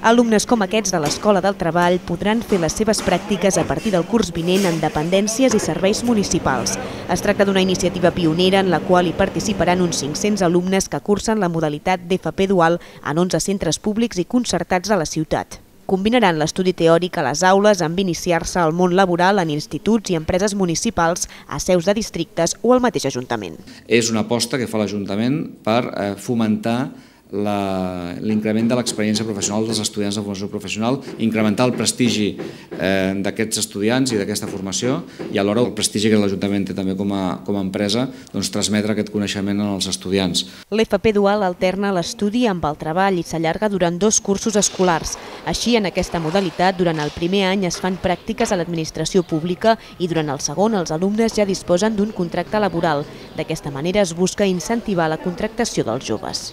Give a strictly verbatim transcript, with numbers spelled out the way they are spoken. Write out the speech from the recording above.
Alumnes com aquests de l'Escola del Treball podran fer les seves pràctiques a partir del curs vinent en dependències i serveis municipals. Es tracta d'una iniciativa pionera en la qual hi participaran uns cinc-cents alumnes que cursen la modalitat d'F P dual en onze centres públics i concertats de la ciutat. Combinaran l'estudi teòric a les aules amb iniciar-se al món laboral en instituts i empreses municipals, a seus de districtes o al mateix Ajuntament. És una aposta que fa l'Ajuntament per fomentar l'increment de l'experiència professional dels estudiants de formació professional, incrementar el prestigi d'aquests estudiants i d'aquesta formació i alhora el prestigi que l'Ajuntament té també com a empresa, transmetre aquest coneixement als estudiants. L'F P dual alterna l'estudi amb el treball i s'allarga durant dos cursos escolars. Així, en aquesta modalitat, durant el primer any es fan pràctiques a l'administració pública i durant el segon els alumnes ja disposen d'un contracte laboral. D'aquesta manera es busca incentivar la contractació dels joves.